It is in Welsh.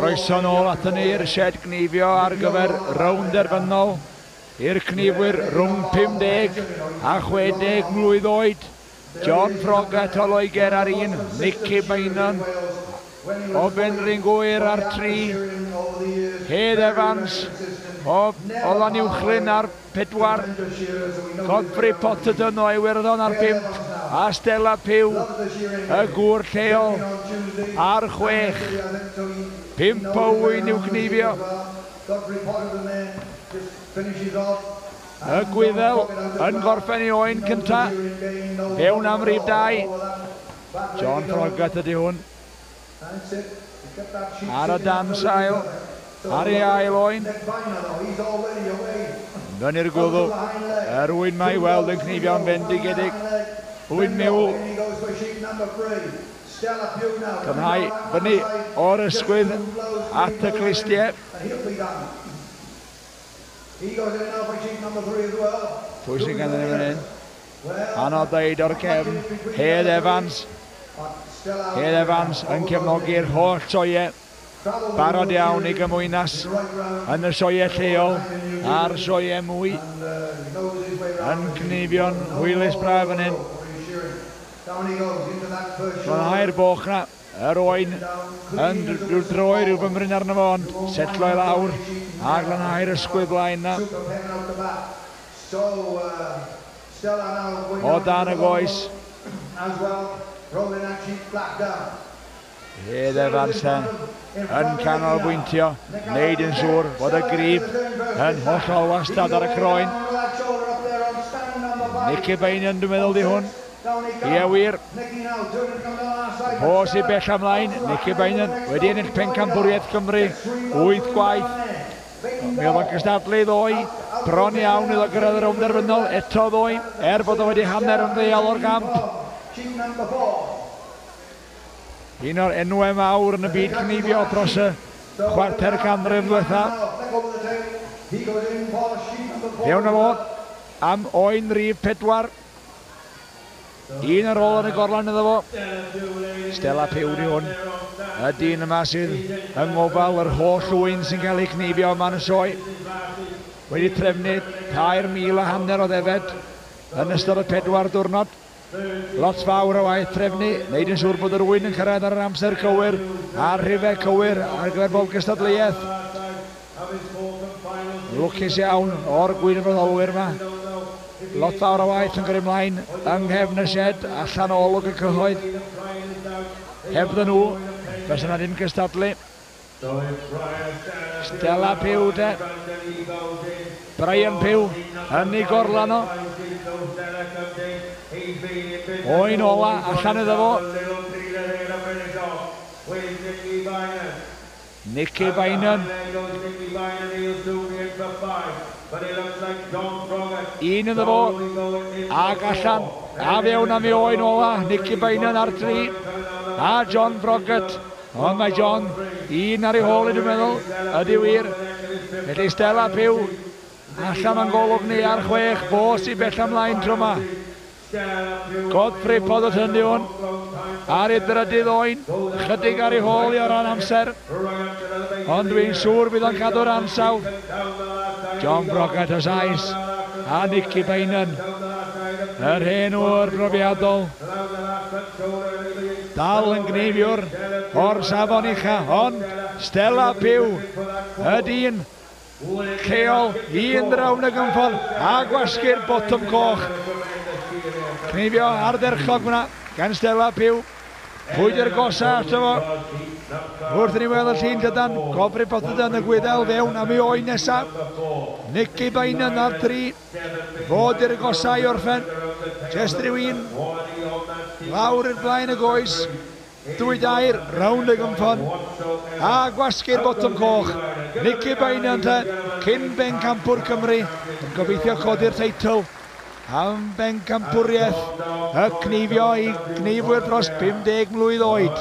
Croeso nôl aton ni i'r sied gneifio ar gyfer rownd derfynol i'r cneifwyr rhwng 50 a 60 mlwydd oed. John Froggatt o Loegr ar 1, Nicky Beynon o Benrhyn Gŵyr ar 3, Hedd Evans o Lanuwchllyn ar 4, Godfrey Potterton o Iwerddon ar 5, a Stella Pugh, y gŵr lleol, ar 6. 5 o ŵyn i'w cneifio. Y Gwyddel yn gorffen ei oen cynta, fewn am rif 2. John Froggatt ydy hwn. Ar y dan sail, ar ei ail oen. Fyny'r gwddw, yr ŵyn mae i weld yn cneifio'n fendigedig. Ŵyn miwl. Tynhau fyny o'r ysgwydd at y clustiau. Pwy sy'n ganddyn ni fan hyn? Anodd dweud o'r cefn. Hedd Evans. Hedd Evans yn cefnogi'r holl sioeau. Barod iawn i gymwynas yn y sioeau lleol a'r sioeau mwy. Yn cneifio'n hwylus braf fan hyn. Glanhau'r boch na. Yr oen yn rhyw droi rhyw fymryn arno fo, ond setlo i lawr a glanhau'r ysgwydd blaen na. O dan y goes. Hedd Evans te yn canolbwyntio, wneud yn siŵr fod y grib yn hollol wastad ar y croen. Nicky Beynon dwi'n meddwl di hwn. Ie wir. Fo sy'n bell ymlaen, Nicky Beynon wedi ennill pencampwriaeth Cymru 8 gwaith. Mi oedd o'n cystadlu ddoe, bron iawn iddo gyrraedd y rownd derfynol eto ddoe, er bod o wedi hanner ymddeol o'r gamp. Un o'r enwau mawr yn y byd cneifio dros y chwarter canrif ddiwetha. Fewn â fo am oen rif 4. Un ar ôl yn y gorlan iddo fo. Stella Pugh di hwn. Y dyn yma sydd yng ngofal yr holl ŵyn sy'n cael ei cneifio yma yn y sioe. Wedi trefnu 3,500 o ddefed yn ystod y 4 diwrnod. Lot fawr o waith trefnu, wneud yn siŵr bod yr ŵyn yn cyrraedd ar yr amser cywir a'r rhifau cywir ar gyfer bob gystadleuaeth. Lwcus iawn o'r gwirfoddolwyr yma. Lot fawr o waith yn gyrru ymlaen yng nghefn y sied, allan o olwg y cyhoedd. Hebddyn nhw, fysa 'na ddim cystadlu. Stella Pugh de. Brian Pugh yn ei gorlan o. Oen ola allan iddo fo. Nicky Beynon. Un iddo fo. Ag allan. A fewn am ei oen ola. Nicky Beynon ar 3. A John Froggatt. Ond mae John un ar ei hôl i dwi'n meddwl, ydy wir. Felly Stella Pugh allan o'n golwg ni ar 6, fo sy'n bell ymlaen tro yma. Godfrey Potterton di hwn, ar ei drydydd oen, chydig ar ei hôl i o ran amser, ond dwi'n siŵr bydd o'n cadw'r ansawdd. John Froggatt o Sais a Nicky Beynon, yr hen ŵr profiadol. Dal yn gneifiwr o'r safon ucha, ond Stella Pugh, y dyn lleol, un rownd y gynffon a gwasgu'r botwm coch. Cneifio ardderchog fyna gan Stella Pugh. Pwy di'r gosa ato fo? Wrth i ni weld y llun llydan, Godfrey Potterton y Gwyddel fewn am ei oen nesaf. Nicky Beynon ar 3. Fo di'r gosa i orffen. Jest rhyw un. Lawr i'r blaen y goes. 2 dair, rownd y gynffon. A gwasgu'r botwm coch. Nicky Beynon te, cyn bencampwr Cymru, yn gobeithio codi'r teitl am bencampwriaeth y cneifio i gneifwyr dros 50 mlwydd oed.